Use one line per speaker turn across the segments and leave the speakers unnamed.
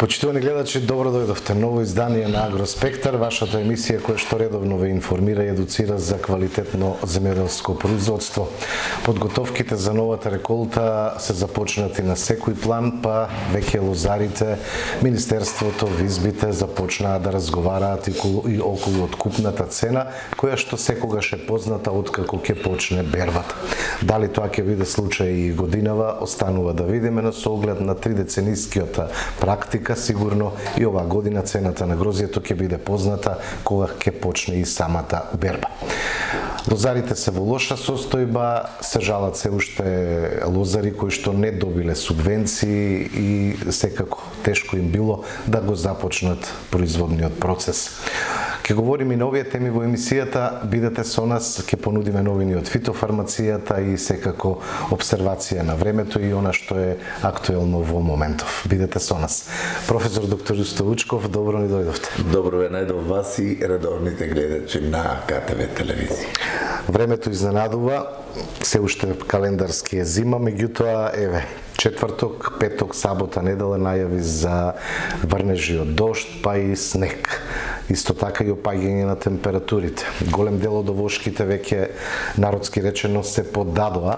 Почитувани гледачи, добро дојдовте. Ново издание на Агроспектар, вашата емисија која што редовно ве информира и едуцира за квалитетно земјоделско производство. Подготовките за новата реколта се започнати на секој план, па веќе лозарите, Министерството, визбите започнаа да разговараат и околу откупната цена, која што секогаш е позната откако ќе почне бербата. Дали тоа ќе биде случај и годинава, останува да видиме, но со оглед на 3-деценискиот практика, сигурно и оваа година цената на грозјето ќе биде позната кога ќе почне и самата берба. Лозарите се во лоша состојба, се жалат се уште лозари кои што не добиле субвенции и секако тешко им било да го започнат производниот процес. Ке говориме и на овие теми во емисијата, бидете со нас, ќе понудиме новини од фитофармацијата и секако обсервација на времето и она што е актуелно во моментов. Бидете со нас. Професор доктор Јусто Вучков, добро ни дојдовте.
Добро ве најдов вас и редовните гледачи на КТВ телевизија.
Времето изненадува, се уште календарски е зима, меѓутоа, еве, четврток, петок, сабота, недела најави за врнежи од дожд, па и снег. Исто така и опаѓање на температурите. Голем дел од овошките веќе, народски речено, се поддадоа.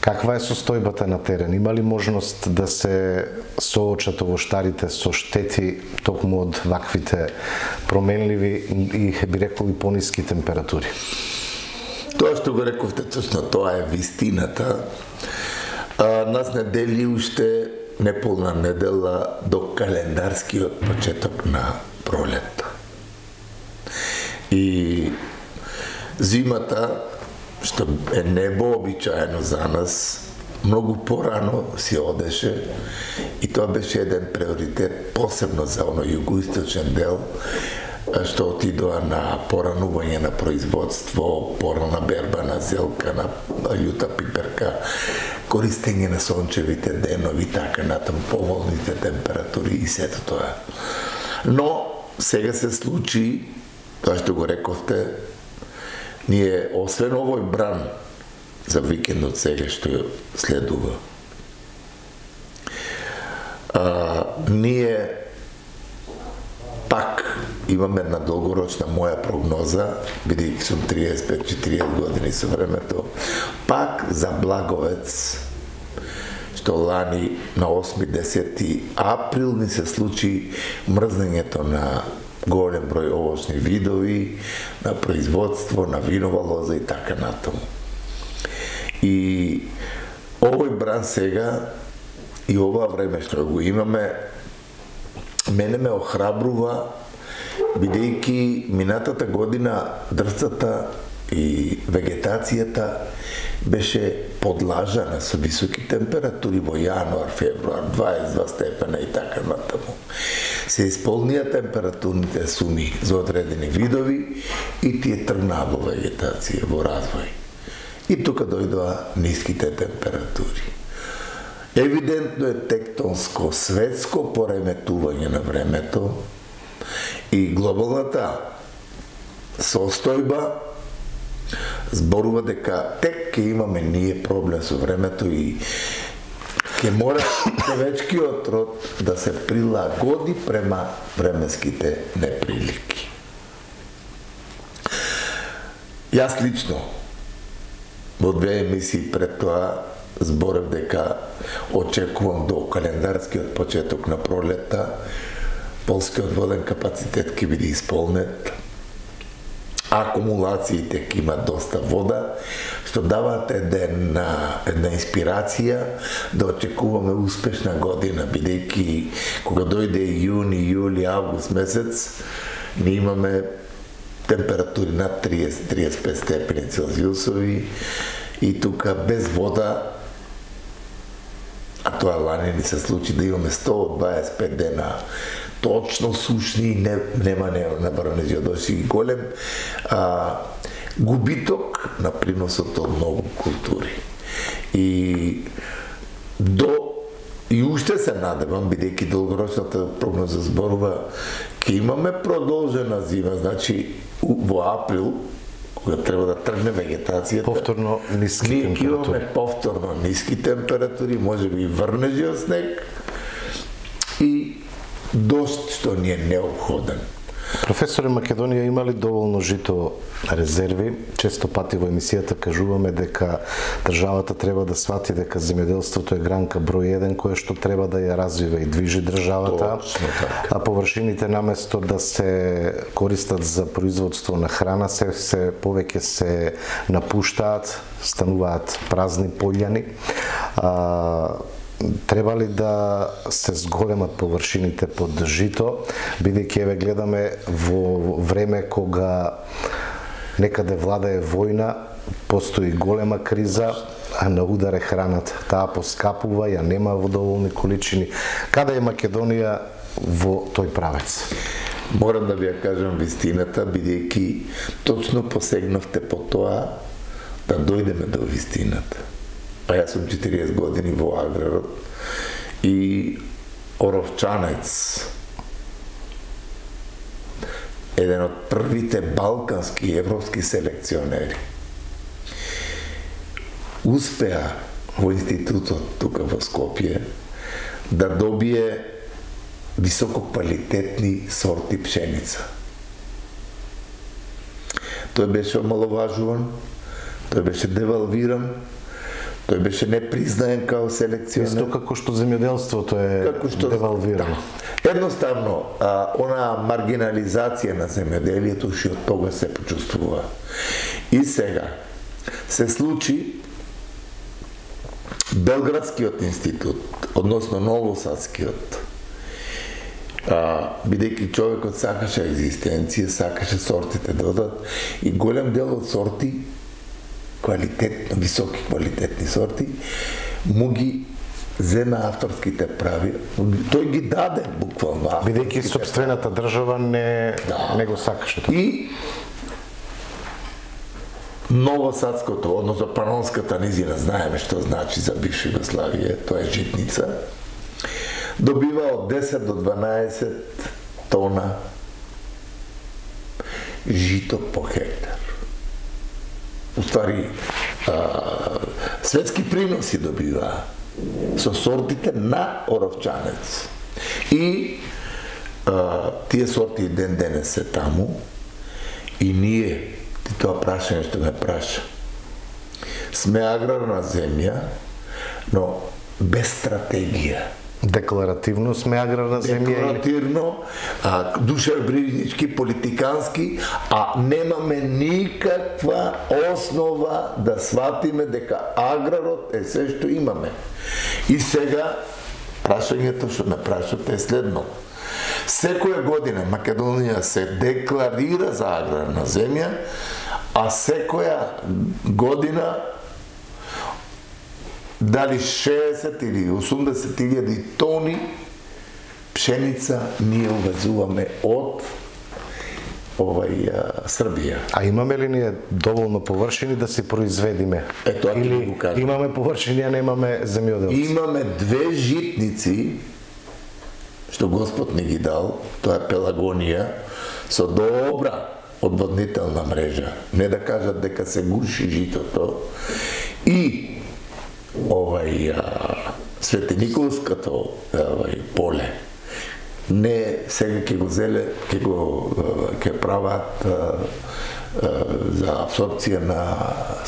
Каква е состојбата на терен? Има ли можност да се соочат овоштарите со штети токму од ваквите променливи и, би рекол, и пониски температури?
Тоа што го рековте, точно тоа е вистината. Нас не дели уште неполна недела до календарскиот почеток на пролет. И зимата, што е невообичаено за нас, многу порано си одеше и тоа беше еден приоритет, посебно за оно југоисточен дел, што отидоа на поранување на производство, порана берба на зелка, на јута пиперка, користење на сончевите денови, така натаму поволните температури и сето тоа. Но сега се случи тоа што го рековте, ние освен овој бран за викендот сега што следува, ние пак имаме една долгорочна моја прогноза, бидејќи сум 35-40 години со времето, пак за Благовец, што лани на 8-10 април ни се случи мрзнењето на голем број овошни видови, на производство, на винова лоза и така натаму. И овој бран сега и ова време што го имаме, мене ме охрабрува, бидејќи минатата година дрвцата и вегетацијата беше подлажана со високи температури во јануар, февруар, 22 степена и така натаму. Се исполнија температурните суми за одредени видови и тие тргнаа во вегетација, во развој. И тука дојдоа ниските температури. Евидентно е тектонско светско пореметување на времето и глобалната состојба зборува дека тек ќе имаме ние проблем со времето и ќе мора човечкиот род да се прилагоди према временските неприлики. Јас лично во 2 емисии пред тоа зборев дека очекувам до календарскиот почеток на пролетта полскиот воден капацитет ќе биде исполнет, акумулациите ќе имат доста вода, што даваат една инспирација да очекуваме успешна година, бидејќи кога дојде јуни, јули, август месец, ние имаме температури над 30-35 степени Целзиусови и тука без вода, а тоа лани ни се случи да имаме 125 дена точно сушни, нема врнежи, и голем губиток на приносот од многу култури. И уште се надевам, бидејќи долгорочната прогноза зборува, ќе имаме продолжена зима, значи во април, кога треба да тргне вегетацијата,
повторно ниски температури.
Ние повторно ниски температури, може би врнежи од снег и дошт што ни е неопходен.
Професоре, Македонија има ли доволно жито резерви? Често пати во емисијата кажуваме дека државата треба да свати дека земјоделството е гранка број 1 која што треба да ја развива и движи државата, а површините наместо да се користат за производство на храна се повеќе се напуштаат, стануваат празни пољани. Треба ли да се зголемат површините под жито, бидејќи еве гледаме во време кога некаде владае војна, постои голема криза, а на удар е храната. Таа поскапува, ја нема во доволни количини. Каде е Македонија во тој правец?
Морам да ви ја кажам вистината, бидејќи точно посегнавте по тоа да дојдеме до вистината. Па јас сум 40 години во аграрот и Оровчанец, еден од првите балкански и европски селекционери, успеа во институтот тука во Скопје да добие висококвалитетни сорти пшеница. Тој беше омаловажуван, тој беше девалвиран, тој беше непризнаен као селекционер.
Исто како што земјоделството е девалвирано.
Да. Едноставно, она маргинализација на земјоделието што од тога се почувствува. И сега се случи Белградскиот институт, односно Новосадскиот, бидејќи човекот сакаше екзистенција, сакаше сортите додат и голем дел од сорти квалитетно, високи квалитетни сорти, му ги зема авторските прави. Тој ги даде буквално.
Бидејќи собствената држава не го сакаше.
И Новосадското, односно Панонската низина, знаеме што значи за бивша Југославија, тоа е житница, добива од 10 до 12 тона жито по хектар. Уствари, светски приноси добива со сортите на Оровчанец. И тие сорти ден денес се таму и ние, ти тоа прашање што ме праша, сме аграрна земја, но без стратегија.
Декларативно сме аграрна земја.
Декларативно, душевбрижнички, политикански, а немаме никаква основа да сватиме дека аграрот е се што имаме. И сега, прашањето што ме прашате е следно. Секоја година Македонија се декларира за аграрна земја, а секоја година дали 60 или 80.000 тони пшеница ние увезуваме од Србија.
А имаме ли ние доволно површини да си произведиме?
Тоа ќе
или
го кажам.
Имаме површини, а немаме земјоделци?
Имаме 2 житници што Господ ни ги дал, тоа е Пелагонија, со добра одводнителна мрежа. Не да кажат дека се гуши житото. И Светениколското поле. Не сега ќе го зеле, ќе прават за абсорбција на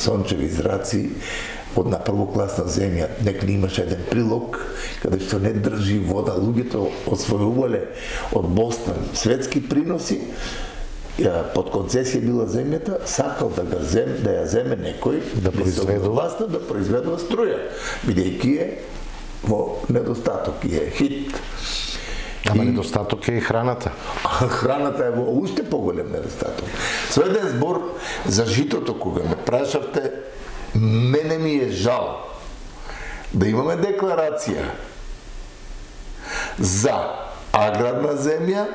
сончеви зраци од на првокласна земја. Некој имаше еден прилог каде што не држи вода, луѓето освојувале од Бостон светски приноси, под концесија била земјата, сакал да ја земе некој
да
произведува струја, бидејќи е во недостаток, е хит.
Ама недостаток е и храната.
Храната е во уште поголем недостаток. Со еден збор за житото, кога ме прашавте, мене ми е жал да имаме декларација за аграрна земја,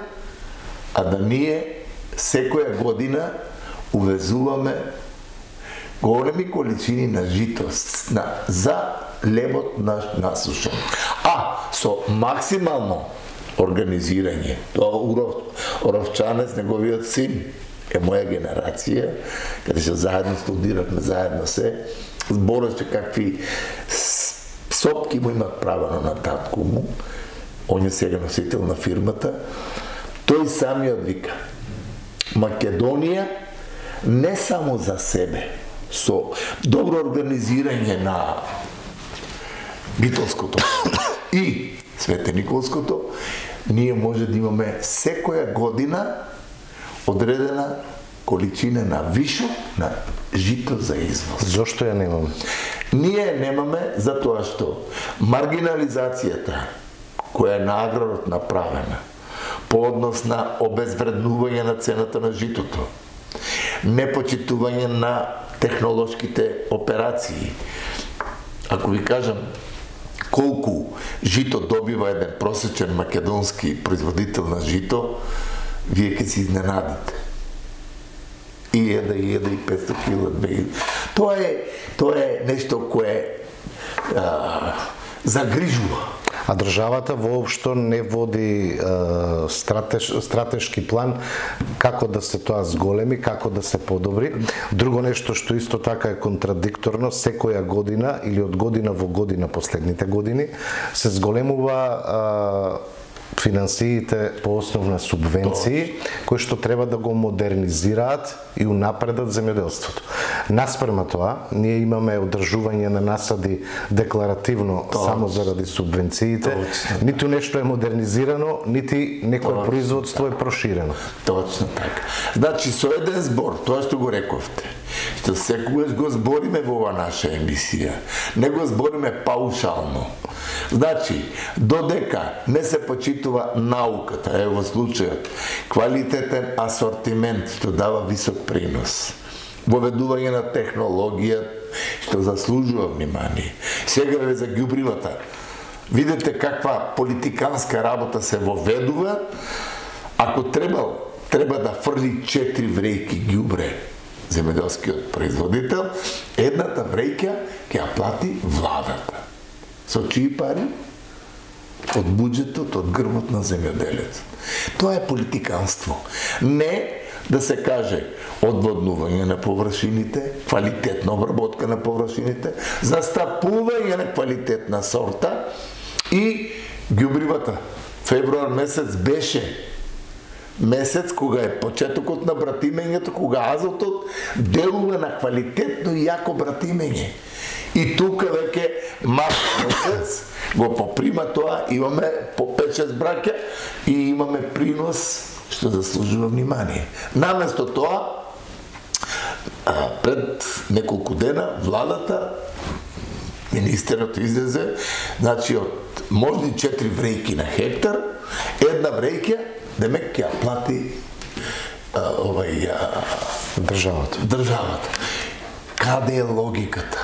а да ние секоја година увезуваме големи количини на жито за лебот наш насушен. А со максимално организирање, тоа Оровчанец, неговиот син, е моја генерација, каде што заедно студиравме, заедно се, збореше какви сопки му имат правено на татку му, он е сега носител на фирмата, тој самиот вика, Македонија не само за себе, со добро организирање на Битолското и Светениколското, ние може да имаме секоја година одредена количина на вишок на жито за извоз.
Зошто ја немаме?
Ние немаме затоа што маргинализацијата која е на аграрот направена по однос на обезвреднување на цената на житото, непочитување на технолошките операции. Ако ви кажам колку жито добива еден просечен македонски производител на жито, вие ќе се изненадите. И 500 кила. Тоа е нешто кое загрижува.
А државата воопшто не води стратешки план како да се тоа зголеми, како да се подобри. Друго нешто што исто така е контрадикторно, секоја година или од година во година последните години се зголемува финансиите по основ на субвенции, кои што треба да го модернизираат и унапредат земјоделството. Наспрема тоа, ние имаме одржување на насади декларативно само заради субвенциите. Ниту нешто е модернизирано, нити некој производство е проширено.
Точно така. Значи, со еден збор, тоа што го рековте, што секогаш го збориме во ова наша емисија, не го збориме паушално. Значи, додека не се почитува науката, во случајот, квалитетен асортимент што дава висок принос, воведување на технологија што заслужува внимание. Сега ве за ѓубривата. Видете каква политиканска работа се воведува. Ако треба да фрли 4 врејки ѓубре земјоделскиот производител, едната врејка ќе ја плати владата. Со чии пари? Од буџетот, од грбот на земјоделецот. Тоа е политиканство. Не да се каже одводнување на површините, квалитетна обработка на површините, застапување на квалитетна сорта и ѓубривата. Февруар месец беше месец кога е почетокот на братимењето, кога азотот делува на квалитетно и јако братимење. И тука веќе март месец го поприма тоа, имаме по 5-6 браќа и имаме принос што заслужува внимание. Наместо тоа, пред неколку дена владата, министерот излезе, значи од можни 4 врејки на хектар, една врејка демек ќе ја плати државата. Каде е логиката?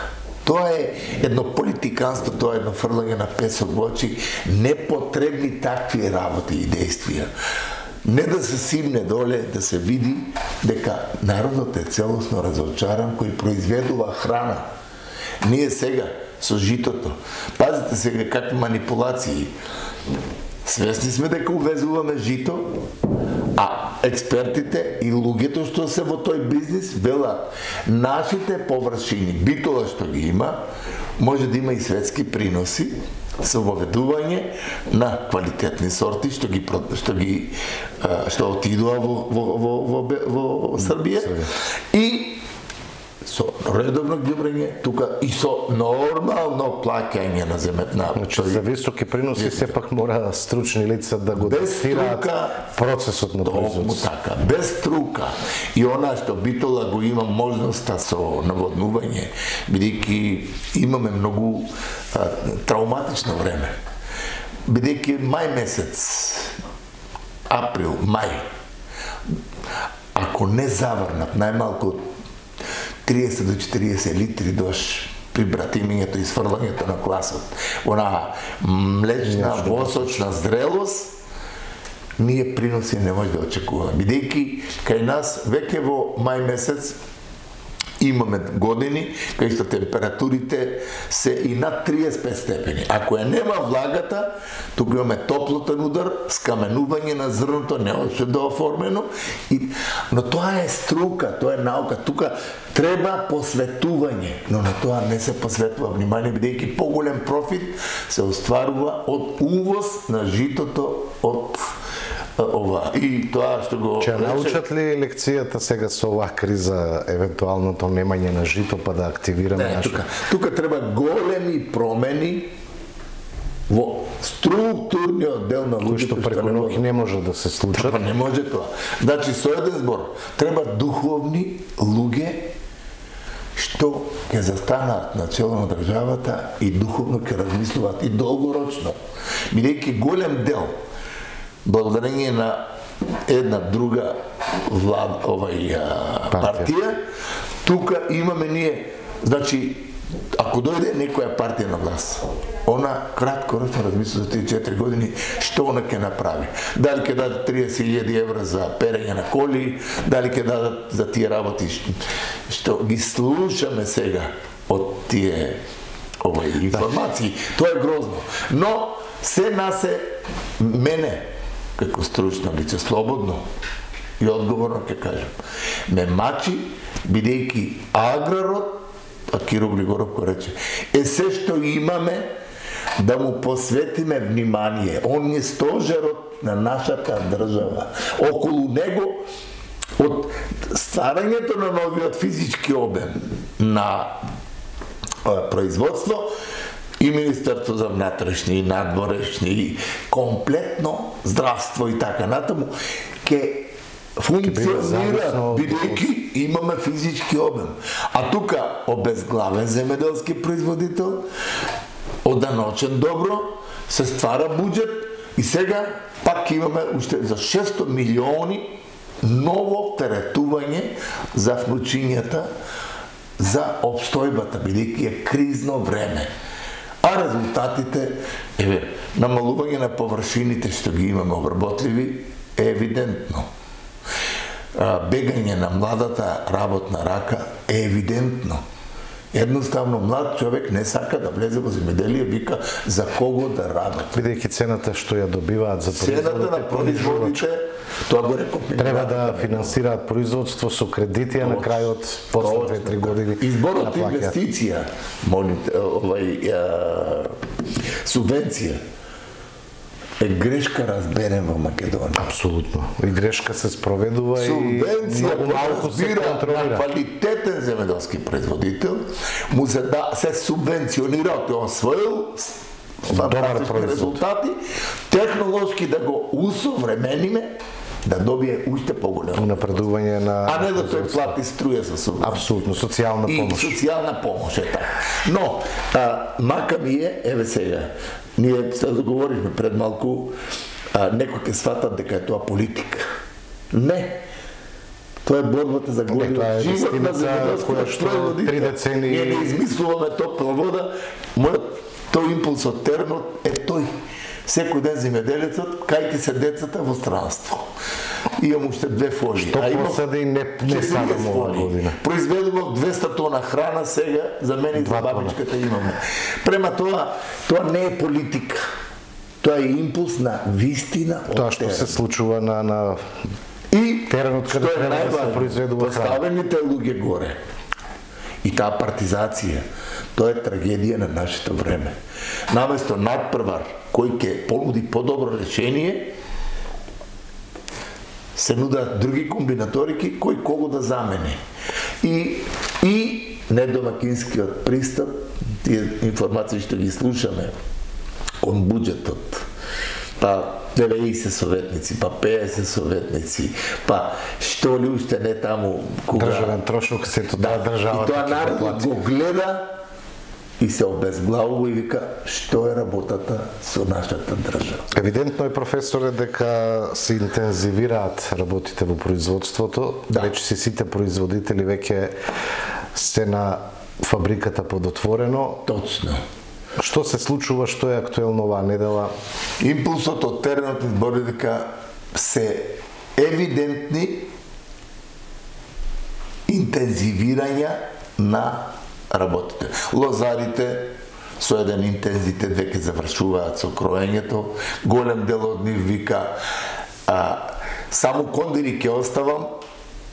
Тоа е едно политиканство, тоа е едно фрлање на песок во очи, непотребни такви работи и действија. Не да се симне доле, да се види дека народот е целосно разочаран кој произведува храна. Ние сега со житото, пазите сега какви манипулации. Свесни сме дека увезуваме жито, а експертите и луѓето што се во тој бизнис велат нашите површини, Битола што ги има, може да има и светски приноси со воведување на квалитетни сорти што отидува во Србија и со редовно ѓубрење тука и со нормално плаќање на земјата.
Значи, за високи приноси сепак мора стручни лица да го тестираат процесот на производство.
Така, без струка. И она што Битола го има можноста со наводнување, бидејќи имаме многу травматично време. Бидејќи мај месец, април, мај, ако не заврнат најмалку 30 до 40 литри дош при братимењето и сврлањето на класот, она млечна, восочна зрелост, ние приноси не може да очекуваме. Бидејќи кај нас веќе во мај месец Имаме години кај што температурите се и над 35 степени. Ако ја нема влагата, тука имаме топлотен удар, скаменување на зрното, не още да оформено, но тоа е струка, тоа е наука. Тука треба посветување, но на тоа не се посветува внимание, бидејќи поголем профит се остварува од увоз на житото од ова. И тоа што го
Че научат ли лекцијата сега со оваа криза, евентуалното немање на жито, па да активираме нашето?
Тука треба големи промени во структурниот дел на луѓето,
што преку ноќ не може да се случат.
Па не може тоа. Значи, со еден збор, треба духовни луѓе што ќе застанат на чело на државата и духовно ќе размислуваат и долгорочно. Бидејќи голем дел, благодарение на една друга партија, тука имаме ние, значи, ако дојде некоја партија на власт, она краткороčno размисля за 3-4 години што она ќе направи. Дали ќе дадат 30.000 евра за перење на коли, дали ќе дадат за тие работи што ги слушаме сега од тие информации. Тоа е грозно. Но се насе мене како стручно лице, слободно и одговорно ќе кажам, ме мачи, бидејќи аграрот, а Киро Григоров го рече, е се што имаме да му посветиме внимание. Он е стожерот на нашата држава. Околу него, од стварањето на новиот физички обем на производство, и Министерство за внатрешни и надворешни и комплетно здравство и така натаму ќе функционира, бидејќи имаме физички обем. А тука обезглавен земеделски производител, оданочен добро, се ствара буџет и сега пак имаме уште за 600 милиони ново теретување за внучињата за обстојбата, бидејќи е кризно време. А резултатите, намалување на површините што ги имаме обработливи е евидентно. Бегање на младата работна рака е евидентно. Едноставно млад човек не сака да влезе во земјоделие, вика за кого да работи.
Бидејќи цената што ја добиваат за
цената на производите, тоа го реков,
треба да финансираат производство со кредити, а на крајот после 2-3 години
изборот инвестиција, субвенција е грешка разберен во Македонија.
Апсолутно. И грешка се спроведува и
многу малку се контролира. На квалитетен земеделски производител му се субвенционира, тој освоил фантастични резултати, технолошки да го усовремениме, да добие уште поголемо
напредување на,
а не да тој плати струја за субвенција.
Апсолутно, социјална помош.
И социјална помош е така. Но мака ми е, еве сега, ние се договоривме пред малку, некој ќе сватат дека е тоа политика. Не. Тоа е борбата за година живот на земеделските производители. Ние не измислуваме топла вода, тој импулс од теренот е тој. Секој ден земјоделецот, кај се децата во странство. Имам уште 2 фолии.
Што посади не садам ова година.
Произведував 200 тона храна, сега за мене и за бабичката имаме. Према тоа не е политика. Тоа е импулс на вистина од
тоа што се случува на теренот каде треба да се произведува храна.
Поставените луѓе горе. И таа партизација, тоа е трагедија на нашето време. Наместо надпревар кој ќе понуди подобро решение, се нудат други комбинаторики кој кого да замени. И недомакинскиот пристап, тие информации што ги слушаме кон буџетот, па 90 советници, па 50 советници, па што ли уште не таму кога
државен трошок, сето таа државата.
И тоа народот го гледа и се обезглавува и вика што е работата со нашата држава.
Евидентно е, професоре, дека се интензивираат работите во производството. Веќе си сите производители веќе сте на фабриката под отворено.
Точно.
Што се случува, што е актуелно оваа недела?
Импулсот од теренот избори дека се евидентни интензивирање на работите. Лозарите со еден интензитет веќе завршуваат со кроењето, голем дел од нив вика само кондири ќе оставам,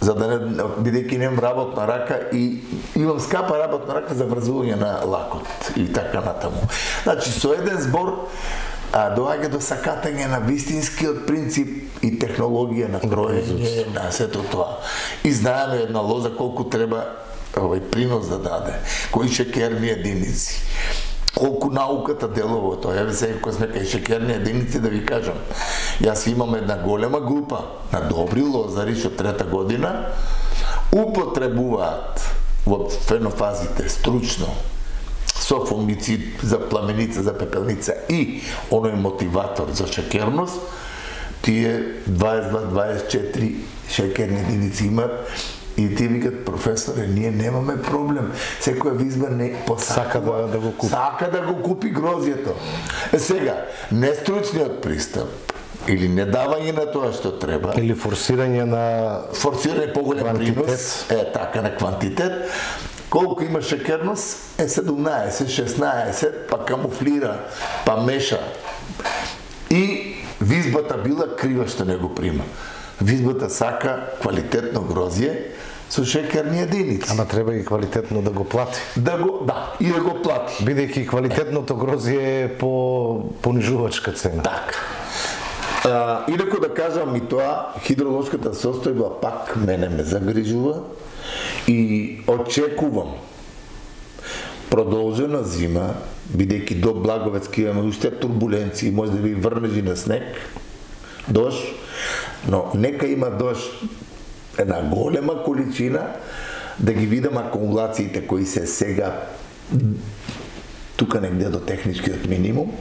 за да не, бидејќи немам работна рака и имам скапа работна рака за врзување на лакот и така натаму. Значи, со еден збор доаѓа до сакатање на вистинскиот принцип и технологија на кроење, на сето тоа. И знаеме една лоза колку треба принос да даде, кои шекерни единици, колку науката делува тоа. Еве сега кога сме кај шекерни единици да ви кажам, јас имам една голема група на добри лозари што трета година употребуваат во фенофазите стручно со фунгицид за пламеница, за пепелница и оној мотиватор за шекерност, тие 22-24 шекерни единици имат. И ти викат, професоре, ние немаме проблем. Секоја визба не
сака да го купи.
Сака да го купи грозјето. Сега, нестручниот пристап или не давање на тоа што треба,
или форсирање
поголем принос, така на квантитет, колку има шекерност, 17, 16, па камуфлира, па меша. И визбата била крива што не го прима. Визбата сака квалитетно грозје со шекерни единици.
Ама треба и квалитетно да го плати.
И да го плати.
Бидејќи квалитетното грозје е по понижувачка цена.
Така. Инаку да кажам и тоа, хидролошката состојба пак мене ме загрижува и очекувам продолжена зима, бидејќи до Благовецки имаме уште турбуленции, може да ви врнежи на снег, дожд, но нека има дожд една голема количина, да ги видам акумулациите кои се сега тука негде до техничкиот минимум,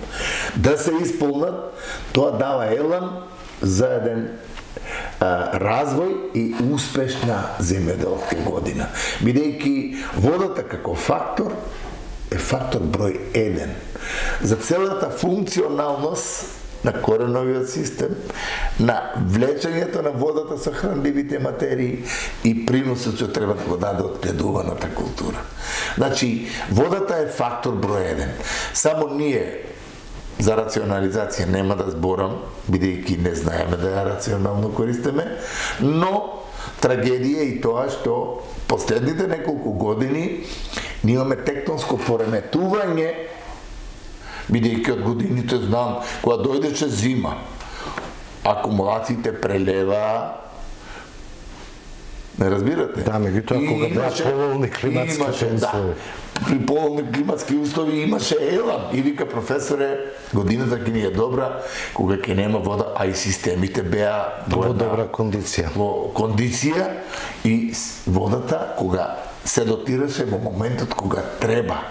да се исполнат, тоа дава елан за еден развој и успешна земјоделска година. Бидејќи водата како фактор е фактор број 1 за целата функционалност на кореновиот систем, на влечењето на водата со хранливите материи и приносот што треба да го даде одгледуваната култура. Значи, водата е фактор број 1. Само ние за рационализација нема да зборам, бидејќи не знаеме да ја рационално користиме, но трагедија е и тоа што последните неколку години ние имаме тектонско пореметување, бидејќи од годините знам, кога дојдеше зима, акумулациите прелева, не разбирате?
Да, меѓутоа кога беа поволни климатски услови.
При поволни климатски услови имаше елан и вика, професоре, годината ќе ни е добра кога ќе нема вода, а и системите беа
во добра кондиција.
Во кондиција и водата кога се дотираше во моментот кога треба.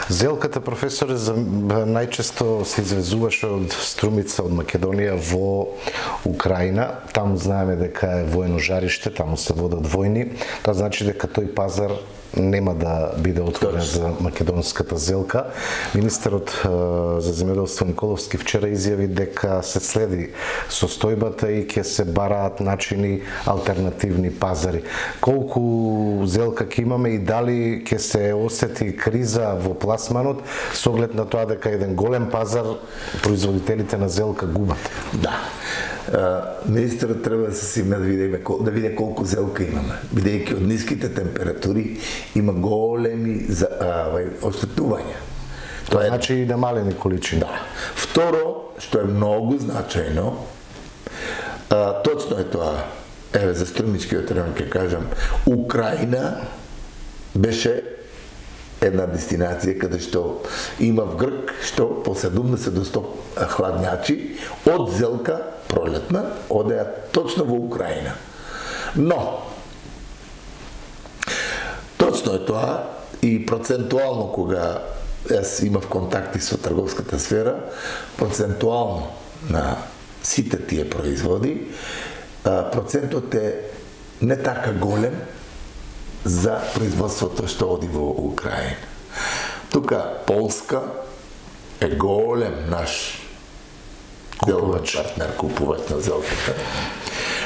Зелката, професоре, најчесто се извезуваше од струмица од Македонија во Украина. Таму знаеме дека е воено жариште, таму се водат војни. Тоа значи дека тој пазар нема да биде отворен за македонската зелка. Министерот за земјоделство Николовски вчера изјави дека се следи состојбата и ќе се бараат начини алтернативни пазари. Колку зелка ќе имаме и дали ќе се осети криза во пласманот со оглед на тоа дека еден голем пазар производителите на зелка губат?
Да. Министерот треба да се симне да види колку зелка имаме, бидејќи од ниските температури има големи оштетувања.
Тоа значи и намалени количини.
Да. Второ, што е многу значајно, точно е тоа, еве за струмичкиот район ќе кажам, Украина беше една дестинација каде што има вгрк што по 70 до 100 хладњачи од зелка пролетна одеа точно во Украина. Но точно е тоа и процентуално кога јас имав контакти со трговската сфера, процентуално на сите тие производи, процентот е не така голем за производството што оди во Украина. Тука Полска е голем наш деловен партнер, купувач на зелката.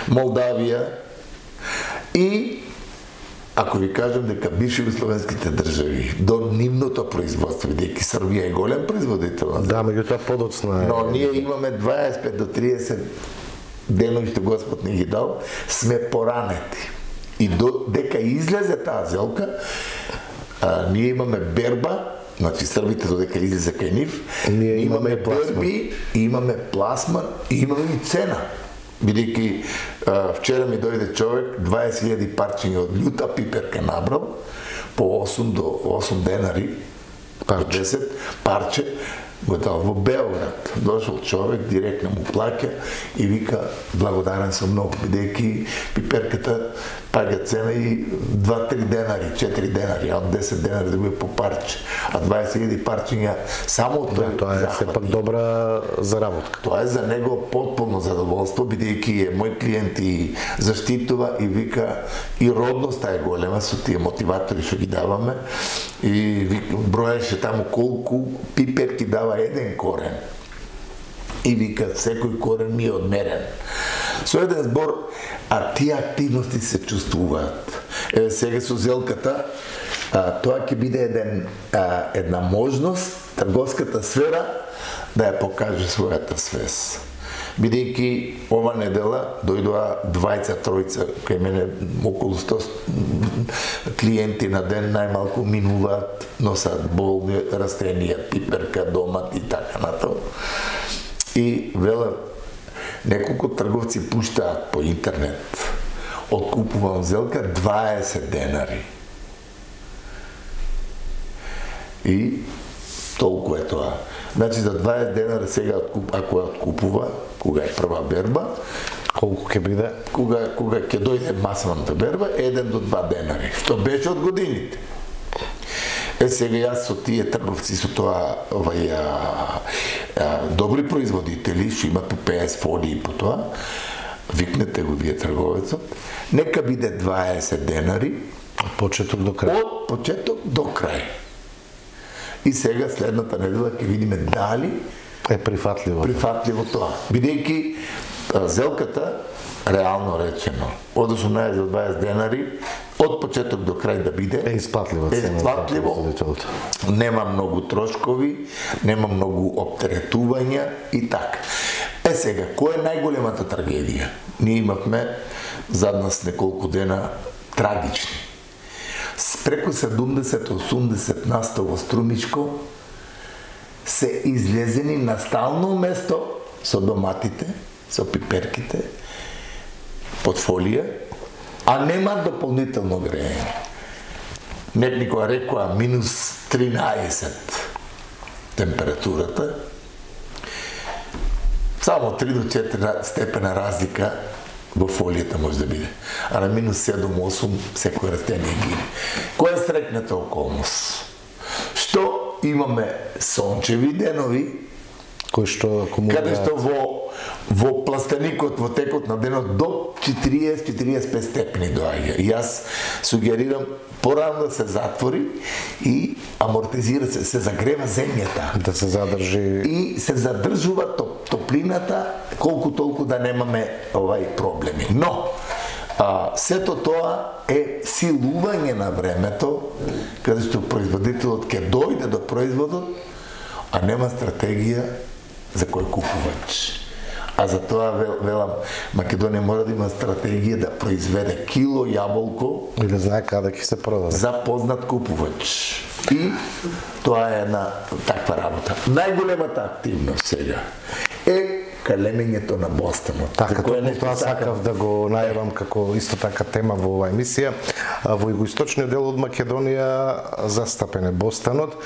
Молдавија и ако ви кажам дека бивши југословенските држави до нивното производство, бидејќи Србија е голем производител на
Да, меѓутоа подоцна е.
но ние имаме 25 до 30 денови што Господ ни ги дал, сме поранети. И дека излезе таа зелка, ние имаме берба, значи србите додека излезе кај нив,
ние
имаме берби, имаме пласман и имаме и цена. Бидејќи вчера ми дојде човек 20.000 парчиња од љута пиперка набрал по 8 до 8 денари, парче. 10 парче, го дал во Белград. Дошол човек, директно му плаќа и вика благодарен сум многу, бидејќи пиперката паѓа цена и 2-3 денари, 4 денари, а од 10 денари добива по парче, а 20.000 парчиња само од тој
тоа е сепак добра заработка.
Тоа е за него потполно задоволство, бидејќи е мој клиент и заштитува и вика и родноста е голема со тие мотиватори што ги даваме и броеше таму колку пиперки дава еден корен. И вика секој корен ми е одмерен. Со еден збор, а тие активности се чувствуваат. Еве сега со зелката, тоа ќе биде една можност трговската сфера да ја покаже својата свест. Бидејќи ова недела дојдоа 20-тројца кај мене, околу 100 клиенти на ден најмалку минуваат, носат болни растенија, пиперка, домат и така натаму. И велат, неколку трговци пуштаат по интернет. Откупувам зелка 20 денари. И толку е тоа. Значи за 20 денари сега ако ја откупува, кога е прва берба,
колку ќе биде?
Кога ќе дојде масовната берба, 1 до 2 денари, што беше од годините. Сега јас со тие трговци, со тоа добри производители, што имат по 50 фолии по тоа, викнете го вие трговецот, нека биде 20 денари
од почеток до крај.
Од почеток до крај. И сега следната недела ќе видиме дали
е прифатливо
тоа. Бидејќи зелката, реално речено, од 18 до 20 денари, од почеток до крај да биде
е исплатливо,
нема многу трошкови, нема многу оптеретувања и така. Сега, која е најголемата трагедија? Ние имавме зад нас неколку дена трагични. Преку 70-80 насто во Струмичко се излезени на стално место со доматите, со пиперките, под фолија, а нема дополнително грејење. Некоја рекоа минус 13 температурата, само 3 до 4 степена разлика во фолијата може да биде. А на минус 7-8 секој растение гине. Која е среќната околност? Што имаме сончеви денови, каде што во пластеникот, во текот на денот до 40-45 степени доаѓа. И јас сугерирам порано да се затвори и амортизира се загрева земјата.
Да се задржи.
И се задржува топлината колку толку да немаме проблеми. Но, сето тоа е силување на времето, каде што производителот ќе дојде до производот, а нема стратегија за кој купувач. А за тоа велам, Македонија мора да има стратегија да произведе кило јаболко
и да знае каде ќе се продаде
за познат купувач. И тоа е една таква работа. Најголемата активност сега е калемењето на бостанот.
Така, тоа сакав да го најавам како исто така тема во оваа емисија. Во југоисточниот дел од Македонија застапен е бостанот.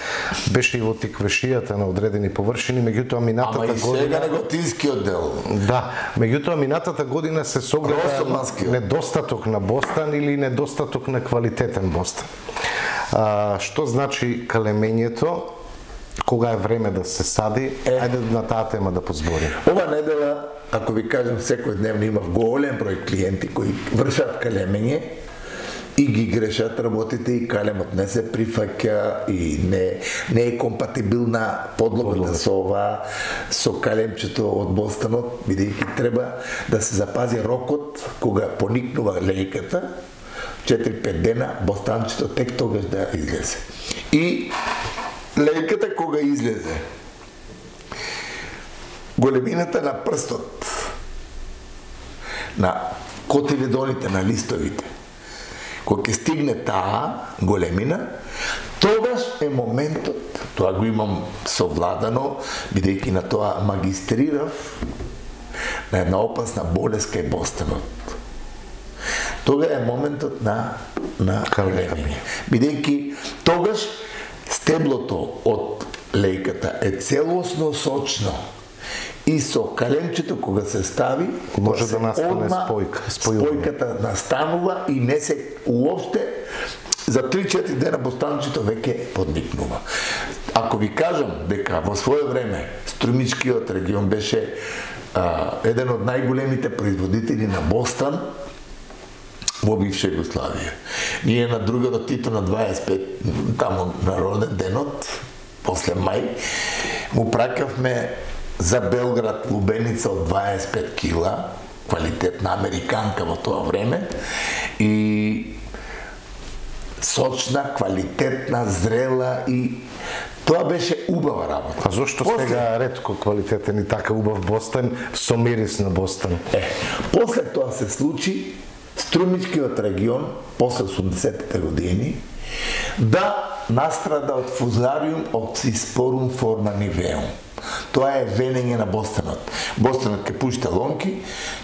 Беше и во тиквешијата на одредени површини, меѓутоа минатата година...
Ама и сега неготинскиот дел.
Да, меѓутоа минатата година се согледа недостаток на бостан или недостаток на квалитетен бостан. Што значи калемењето? Кога е време да се сади? Ајде на таа тема да позборим.
Ова недела, ако ви кажам, секој дневно имав голем број клиенти кои вршат калемење и ги грешат работите и калемот не се прифаќа и не е компатибилна подлогата со ова, со калемчето од бостанот, бидејќи треба да се запази рокот кога поникнува лејката, 4-5 дена, бостанчето тек тогаш да излезе. И лејката кога излезе, големината на прстот, на котиледоните, на листовите, кога ќе стигне таа големина, тогаш е моментот, тоа го имам совладано, бидејќи на тоа магистрирав, на една опасна болест кај бостанот. Тога е моментот на големиње. Бидејќи тогаш стеблото од лејката е целосно сочно и со калемчето кога се стави,
може да настане
спојката настанува и не се уопште за 3-4 дена бостанчето веќе подникнува. Ако ви кажам дека во свое време Струмичкиот регион беше еден од најголемите производители на бостан во бивша Југославија. Ние на другото Тито на 25, таму на роден денот, после мај, му праќавме за Белград лубеница од 25 кила, квалитетна американка во тоа време, и сочна, квалитетна, зрела, и тоа беше убава работа.
А зошто сега ретко квалитетен и така убав бостан со мирис на бостан?
После тоа се случи Струмичкиот регион, после 80-те години, да настрада од фузариум оксиспорум форманивеум. Тоа е венење на бостанот. Бостанот ќе пушти лонки,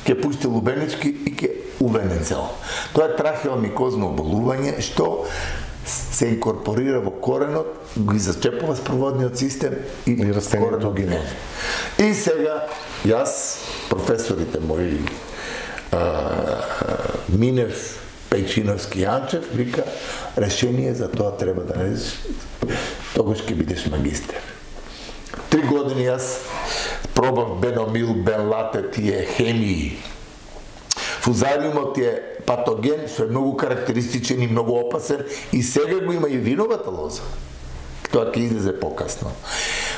ќе пушти лубенички и ќе увене цел. Тоа е трахеомикозно оболување што се инкорпорира во коренот, ги зачепува спроводниот систем и
растението гине.
И сега јас, професорите мои Минев, Пејчиновски, Јанчев, вика, решение за тоа треба да најдеш, тогаш ќе бидеш магистер. 3 години јас пробав беномил, бенлате, тие хемии. Фузариумот е патоген, што е многу карактеристичен и многу опасен, и сега го има и виновата лоза. Тоа ќе излезе покасно.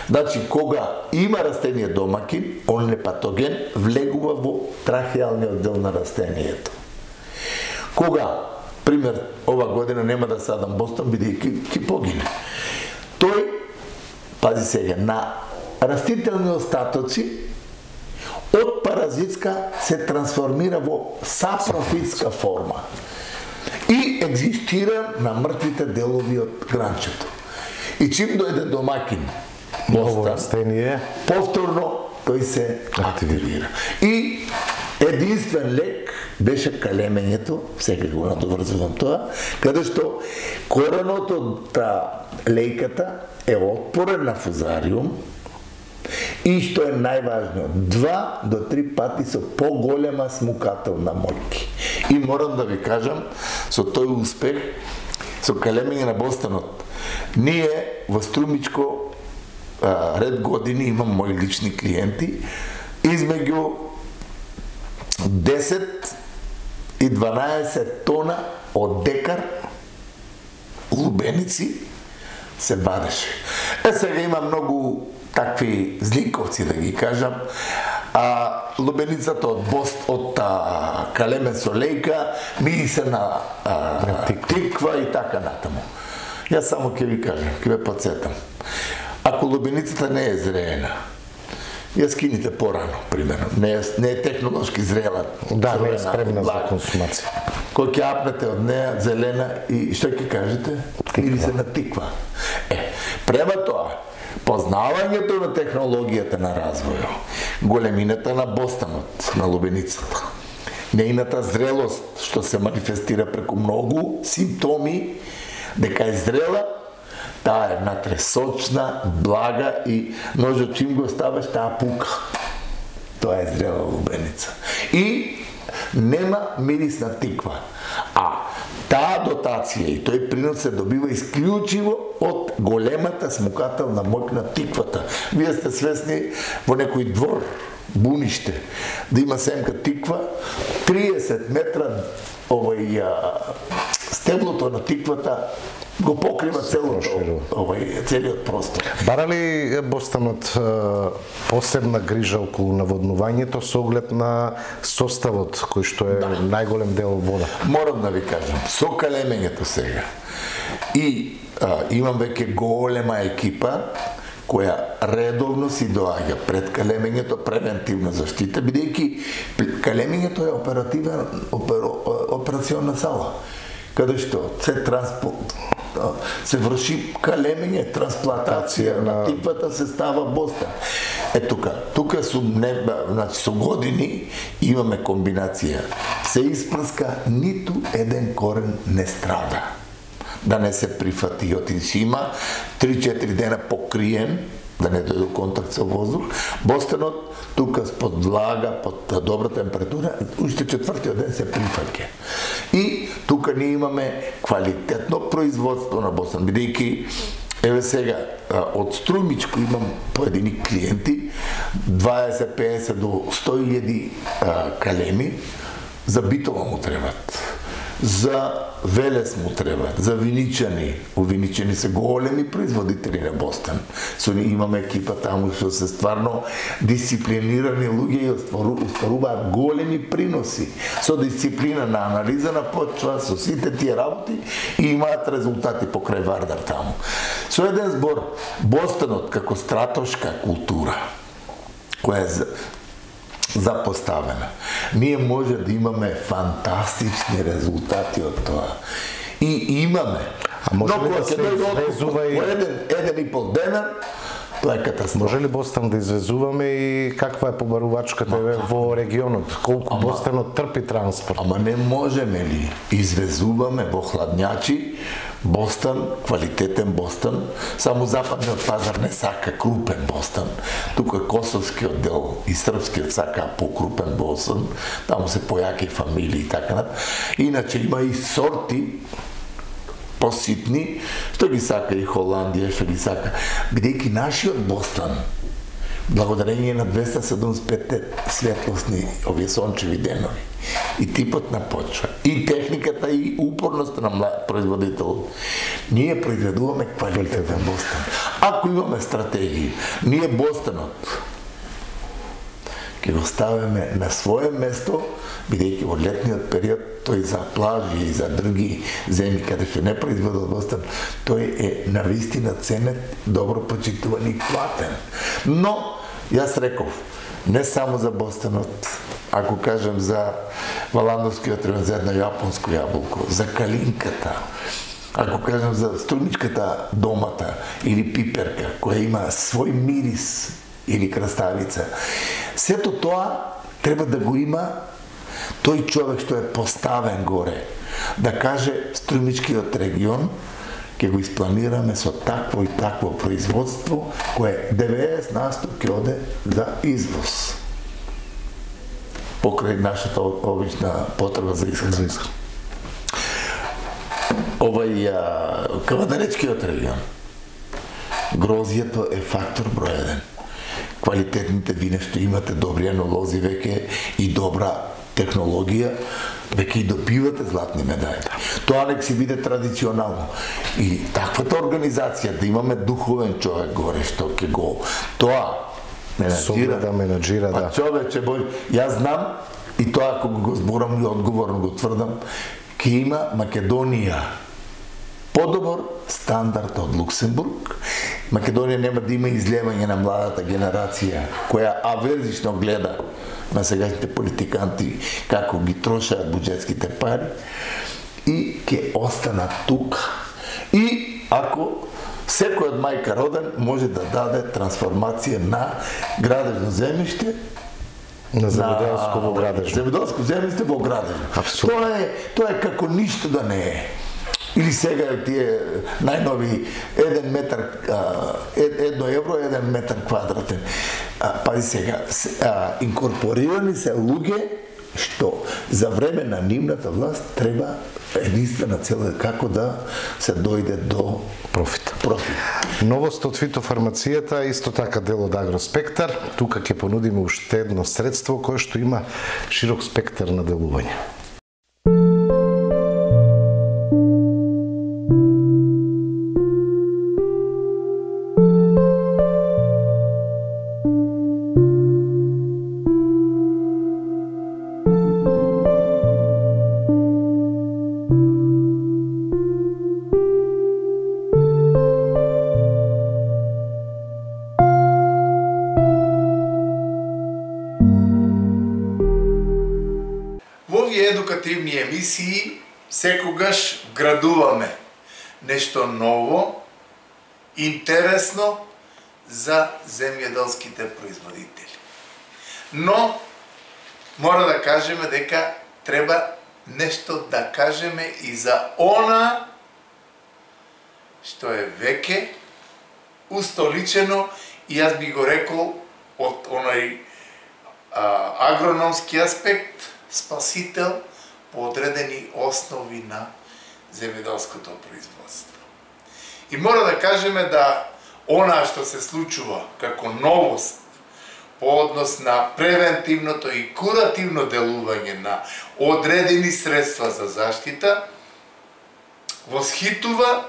Значи, кога има растение домакин, он е патоген, влегува во трахеалниот дел на растението. Кога, пример, ова година нема да садам бостан, бидејќи ќе погине. Тој, пази сега, на растителни остатоци од паразитска се трансформира во сапрофитска форма и екзистира на мртвите делови од гранчето. И чим дојде домакин
ново растение,
повторно тој се активира. И единствен лек беше калемењето, сега го надоврзувам тоа, каде што коренот од лејката е отпорен на фузариум и што е најважно, 2 до 3 пати со поголема смукателна моќ. И морам да ви кажам, со тој успех, со калемење на бостанот, ние во Струмичко ред години имам мои лични клиенти, измеѓу 10 и 12 тона од декар лубеници се вадеше. Сега има многу такви зликовци, да ги кажам. Лубеницата од бост, од калемен со лејка, мирисе на тиква и така натаму. Јас само ќе ви кажам, ќе ве подсетам. Ако лубеницата не е зреена, ја скините порано, примерно. Не е технолошки зрела.
Да, не е спремна за консумација.
Кој ќе апнете од неја, зелена, и што ќе кажете? Или се на тиква. Према тоа, познавањето на технологијата на развојот, големината на бостанот, на лубеницата, нејната зрелост, што се манифестира преку многу симптоми, дека е зрела, таа е внатре сочна, блага и ножот чим го ставаш, таа пука. Тоа е зрела лубеница. И нема мирис на тиква. А таа дотација и тој принос се добива исклучиво од големата смукателна моќ на тиквата. Вие сте свесни во некој двор, буниште, да има семка тиква, 30 метра стеблото на тиквата го покрива целиот простор.
Бара ли Бостанот посебна грижа околу наводнувањето со оглед на составот кој што е најголем дел вода?
Морам да ви кажам, со калемењето сега и имам веќе голема екипа која редовно си доаѓа пред калемењето превентивна заштита, бидејќи калемењето е операционна сала, каде што се врши калемење, трансплантација на типата се става Бостан. Тука со години имаме комбинација. Се испрска, ниту еден корен не страда. Да не се прифати, си има 3-4 дена покриен, да не дојде до контакт со воздух. Бостанот тука под влага, под добра температура, уште 4-тиот ден се прифаќа. И тука ние имаме квалитетно производство на Бостан, бидејќи еве сега од Струмичко имам поедини клиенти, 20-50 до 100.000 калеми, за Битола му требат. За Велес му требат, за Виничани. У Виничани се големи производители на Бостан. Со ние имаме екипа таму што се стварно дисциплинирани луѓе и остваруваат големи приноси. Со дисциплина на анализа на почва, со сите тие работи и имаат резултати покрај Вардар таму. Со еден збор, Бостанот како стратошка култура, која е запоставена. Ние може да имаме фантастични резултати од тоа. И имаме.
А може ли да се извезува и...
Еден и пол дена, тоа е катастрофа.
Може ли Бостан да извезуваме и каква е побарувачката во регионот? Колку Бостанот трпи транспорт?
Ама не можеме ли? Извезуваме во хладњачи Бостан, квалитетен Бостан, само западниот пазар не сака крупен Бостан. Тука косовскиот дел и српскиот сака покрупен Бостан, таму се појаки фамилии и така. Иначе има и сорти поситни, што ги сака и Холандија, што ги сака. Бидејќи нашиот Бостан, благодарение на 275 светлосни овие сончеви денови, и типот на почва, и техниката, и упорноста на производител, ние произведуваме квалитетен Бостан. Ако имаме стратегија, ние Бостанот ќе го ставиме на свое место, бидејќи во летниот период тој за плажи и за други земји каде што не произведува Бостан, тој е навистина ценет, добро почитуван и платен. Но јас реков, не само за Бостанот, ако кажем за Валандовскиот район, за едно јапонско јаболко, за калинката, ако кажем за струмичката домата или пиперка, која има свој мирис, или краставица, сето тоа треба да го има тој човек што е поставен горе, да каже Струмичкиот регион ќе го испланираме со такво и такво производство кое 90% ќе оде за извоз. Покрај нашата обична потреба за исхрана. Кавадаречкиот регион, грозјето е фактор број 1. Квалитетните вина што имате, добри енолози веќе и добра технологија, веќе и добивате златни медали. Тоа нек си биде традиционално. И таквата организација, да имаме духовен човек горе, што ќе го тоа менаџира, па човече бој, јас знам, и тоа ако го зборам и одговорно го тврдам, ќе има Македонија подобар стандард од Луксембург. Македонија нема да има излевање на младата генерација, која аверзично гледа на сегашните политиканти како ги трошаат буџетските пари, и ќе останат тука. И ако секој од мајка роден може да даде трансформација на градежно земјиште,
на земјоделско во градежно.
Земјоделско земјиште во градежно. Тоа е како ништо да не е. Или сега тие најнови 1 метар, 1 евро, 1 метар квадратен. Пази сега, инкорпорирани се луѓе што за време на нивната власт треба единствена цел како да се дојде до
профит.
Новост
од фитофармацијата, исто така дел од Агроспектар. Тука ќе понудиме уште едно средство кое што има широк спектар на делување.
овие едукативни емисии секогаш вградуваме нешто ново, интересно за земјоделските производители. Но мора да кажеме дека треба нешто да кажеме и за она што е веќе устоличено, и јас би го рекол од онај агрономски аспект, спасител по одредени основи на земјоделското производство. И мора да кажеме да она што се случува како новост по однос на превентивното и куративно делување на одредени средства за заштита восхитува,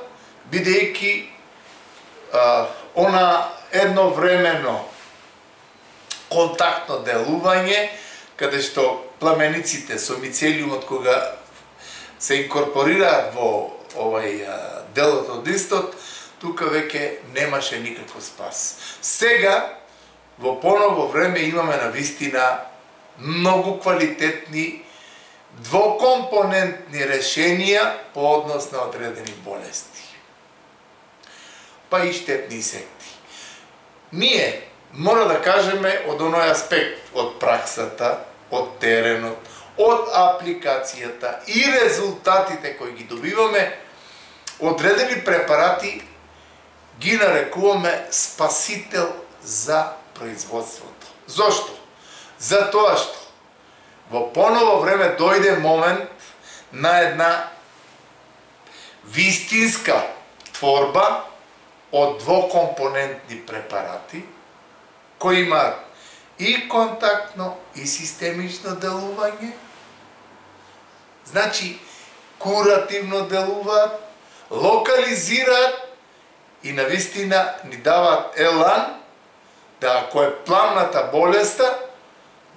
бидејќи она едновремено контактно делување, каде што пламениците со мицелиумот кога се инкорпорираат во овај делот од листот, тука веќе немаше никаков спас. Сега, во поново време, имаме навистина многу квалитетни двокомпонентни решенија по однос на одредени болести, па и штетни инсекти. Ние мора да кажеме од оној аспект, од праксата, од теренот, од апликацијата и резултатите кои ги добиваме, одредени препарати ги нарекуваме спасител за производството. Зошто? Затоа што во поново време дојде момент на една вистинска творба од двокомпонентни препарати кои имаат и контактно и системично делување, значи куративно делуваат, локализираат и навистина ни даваат елан да ако е пламната болеста,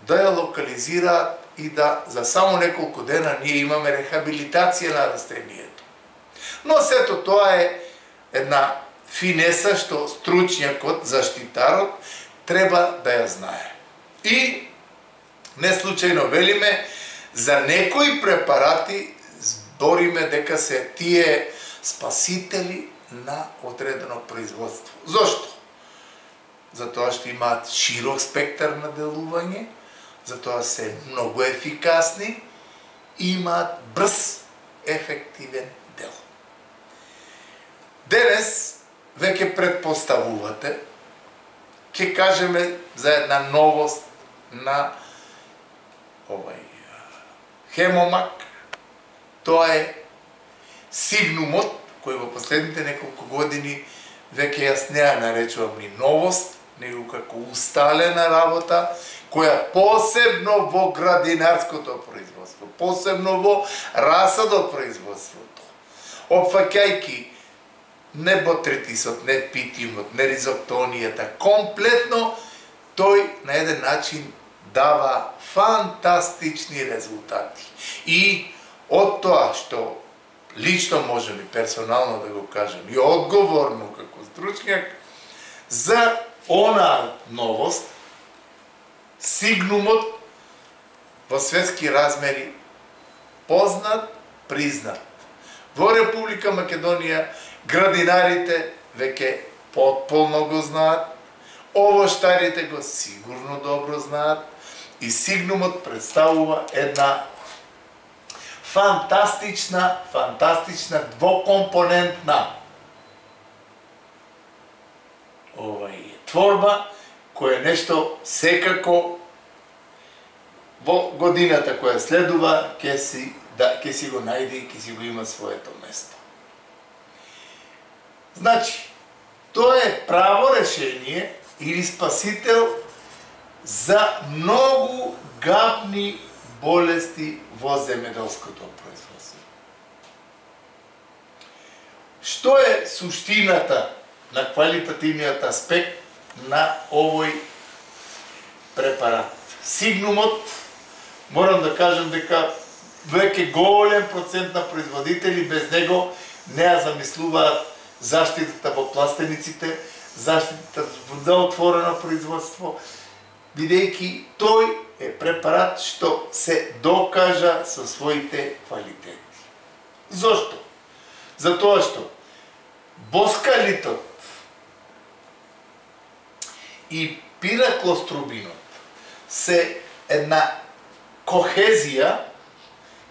да ја локализираат и да за само неколку дена ние имаме рехабилитација на растението. Но сето тоа е една финеса што стручњакот, заштитарот, треба да ја знае. И не случајно велиме, за некои препарати збориме дека се тие спасители на одредено производство. Зошто? Затоа што имаат широк спектар на делување, затоа се многу ефикасни и имаат брз, ефективен дел. Денес веќе предпоставувате, ќе кажеме за една новост на овај хемомак, тоа е сигнумот, кој во последните неколку години веќе јас не ја наречувам ни новост, него како усталена работа, која посебно во градинарското производство, посебно во расадопроизводството, опфаќајќи не ботритисот, не питиумот, не ризоктонијата, комплетно тој на еден начин дава фантастични резултати. И од тоа што лично можем и персонално да го кажем, и одговорно како стручњак, за она новост, сигнумот во светски размери познат, признат. Во Република Македонија градинарите веќе потполно го знаат, овоштарите го сигурно добро знаат и сигнумот представува една фантастична двокомпонентна творба, која нешто секако во годината која следува ќе си го најде и ќе си го има своето место. Значи, тоа е право решение или спасител за многу гадни болести во земјоделското производство. Што е суштината на квалитативниот аспект на овој препарат? Сигнумот, морам да кажам дека веќе голем процент на производители без него не ја замислуваат заштитата во пластениците, заштитата за отворено производство, бидејќи тој е препарат што се докажа со своите квалитети. Зошто? Затоа што боскалитот и пираклострубинот се една кохезија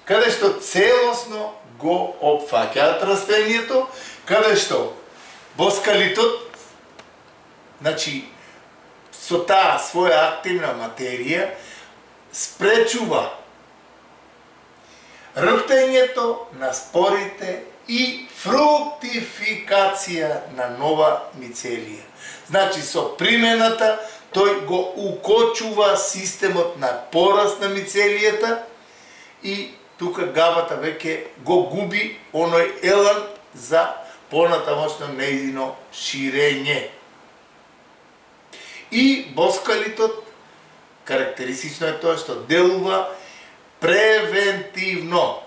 каде што целосно го опфаќаат растението, каде што боскалитот, значи, со таа своја активна материја спречува рптењето на спорите и фруктификација на нова мицелија. Значи, со примената, тој го укочува системот на пораст на мицелијата и тука габата веќе го губи оној елан за понатамошно нејзино ширење. И боскалитот, карактеристично е тоа што делува превентивно.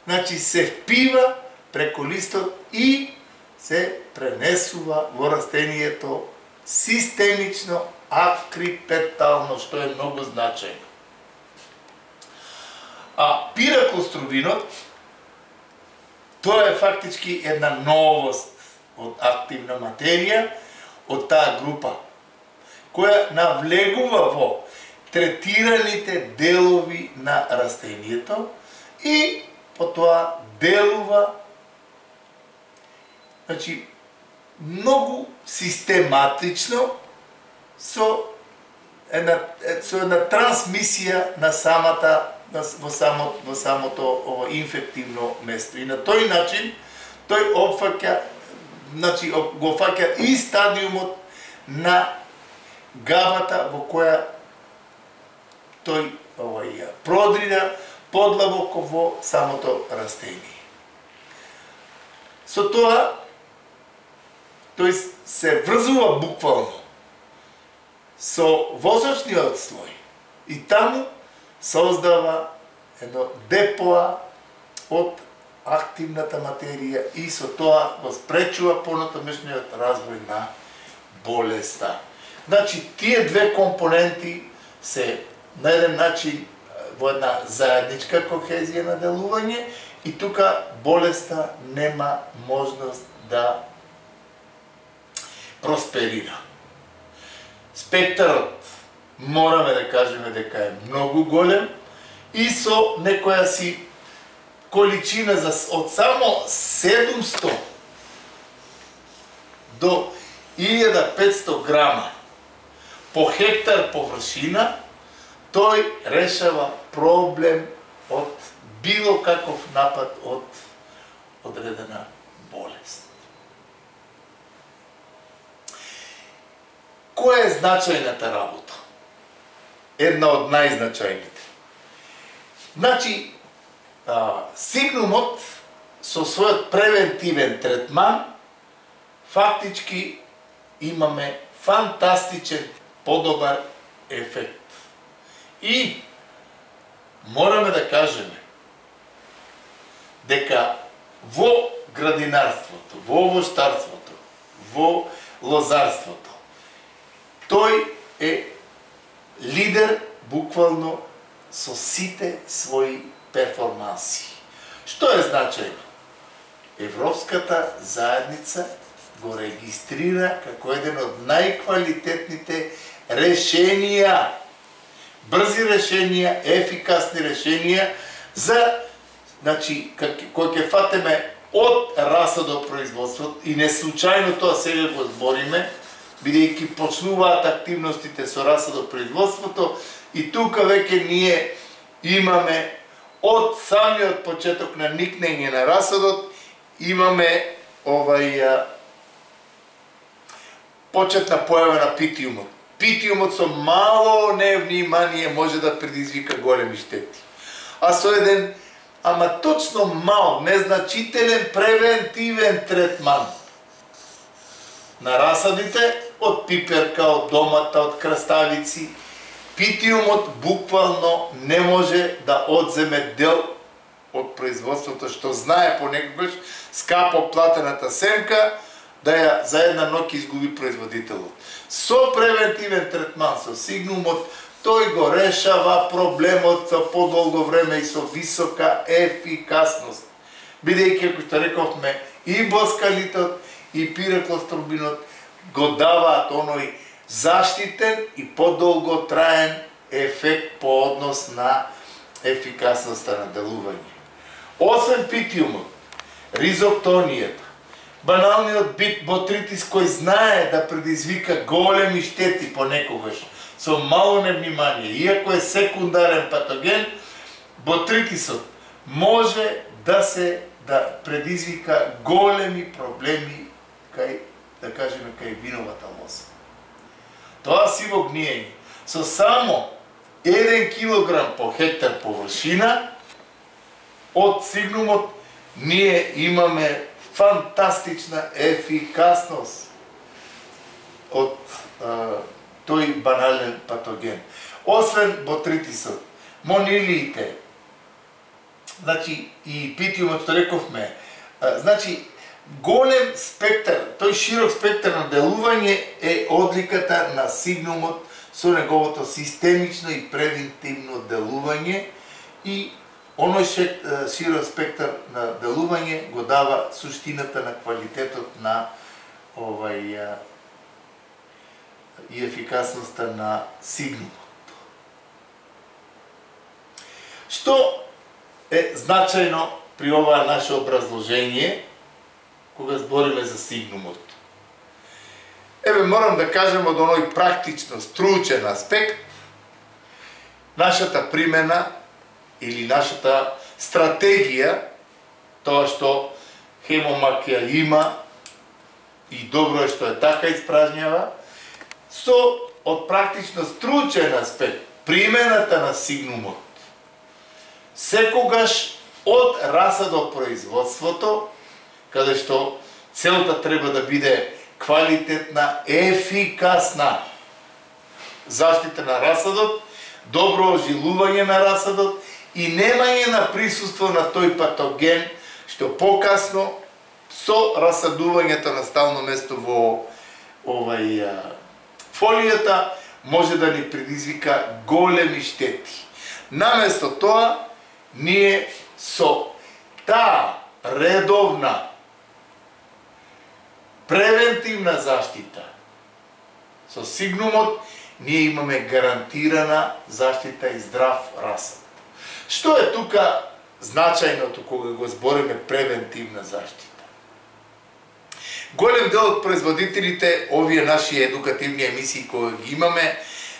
Значи се впива преку листот и се пренесува во растението системично, акрипетално, што е многу значајно. А пираклострубинот, тоа е фактички една новост од активна материја, од таа група, која навлегува во третираните делови на растението и потоа делува, значи, многу систематично со една трансмисија на во самото инфективно место. И на тој начин тој опфаќа, значи го фаќа и стадиумот на габата во која тој продрира подлабоко во самото растение. Со тоа тој се врзува буквално со восочниот слој и таму создава едно депоа од активната материја и со тоа го спречува понатамошниот развој на болеста. Значи, тие две компоненти се на еден начин во една заедничка кохезија на делување и тука болеста нема можност да просперира. Спектарот мораме да кажеме дека е многу голем и со некоја си количина од само 700 до 1500 грама по хектар површина, тој решава проблем од било каков напад од одредена болест. Која е значајната работа? Една од најзначајните. Значи, сигнумот со својот превентивен третман фактички имаме фантастичен, подобар ефект. И мораме да кажеме дека во градинарството, во овоштарството, во лозарството, тој е лидер буквално со сите своји перформанси. Што е значајно? Европската заедница го регистрира како еден од најквалитетните решенија, брзи решенија, ефикасни решенија за, значи, кој ќе фатеме од расадопроизводството и не случајно тоа сега го збориме, бидејќи почнуваат активностите со расадопроизводството и тука веќе ние имаме од самиот почеток на никнење на расадот, имаме почетна појава на питиумот. Питиумот со мало невнимание може да предизвика големи штети. А со еден, ама точно мал, незначителен превентивен третман на расадите, од пиперка, од домата, од краставици, питиумот буквално не може да одземе дел од производството, што знае понекогаш скапо платената семка, да ја за една ноќ изгуби производителот. Со превентивен третман, со сигнумот, тој го решава проблемот за подолго време и со висока ефикасност. Бидејќи, како што рековме, и боскалитот и пиреклостробинот го даваат оној заштитен и подолго траен ефект по однос на ефикасноста на делување. Освен питиумот, ризоктонијата, баналниот ботритис кој знае да предизвика големи штети понекогаш со мало невнимание, иако е секундарен патоген, ботритисот може да предизвика големи проблеми кај, да кажеме, кај виновата лоза. Тоа сиво гниење со само 1 килограм по хектар површина од сигнумот ние имаме фантастична ефикасност од тој банален патоген. Освен ботритисот, монилиите, значи и питиумот, што рековме, значи голем спектар, тој широк спектар на делување е одликата на сигнумот со неговото системично и превентивно делување и оној широк спектар на делување го дава суштината на квалитетот на и ефикасноста на сигнумот. Што е значајно при ова наше образложение кога збориме за сигнумот? Еве, морам да кажем од оној практично стручен аспект, нашата примена или нашата стратегија, тоа што Хемомак ја има и добро е што е така испражњава, со од практично стручен аспект, примената на сигнумот, секогаш од расадопроизводството, каде што целта треба да биде квалитетна, ефикасна заштита на расадот, добро ожилување на расадот и немање на присуство на тој патоген, што покасно со расадувањето на стално место во фолијата може да ни предизвика големи штети. Наместо тоа, ние со таа редовна превентивна заштита со сигнумот ние имаме гарантирана заштита и здрав расад. Што е тука значајното кога го збориме превентивна заштита? Голем дел од производителите, овие наши едукативни емисии кои ги имаме,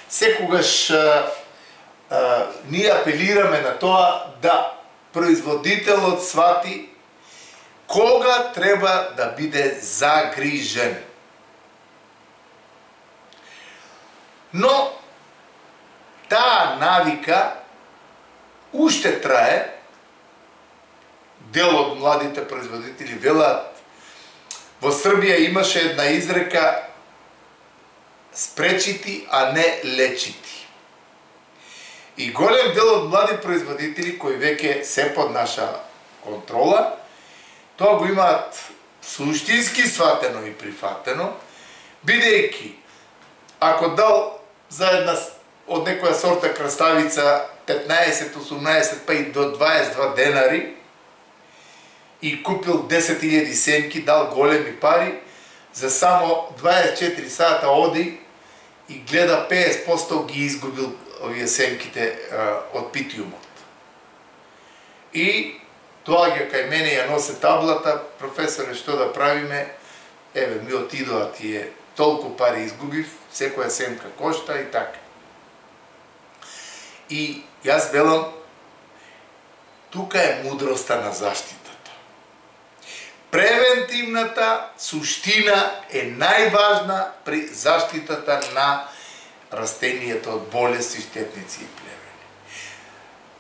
секогаш ние апелираме на тоа да производителот свати кога треба да биде загрижен. Но таа навика уште трае. Дел од младите производители велат, во Србија имаше една изрека спречити, а не лечити. И голем дел од млади производители кои веќе се под наша контрола, тоа го имаат суштински сватено и прифатено, бидејќи ако дал за една од некоја сорта краставица 15, 18 па и до 22 денари и купил 10.000 семки, дал големи пари, за само 24 сата оди и гледа 50% ги изгубил овие семките од питиумот. И доаѓа кај мене, ја носе таблата, професоре, што да правиме? Еве, ми отидоа тие, толку пари изгубив, секоја семка кошта и така. И јас велам, тука е мудроста на заштитата. Превентивната суштина е најважна при заштитата на растенијата од болести, штетници и плевели.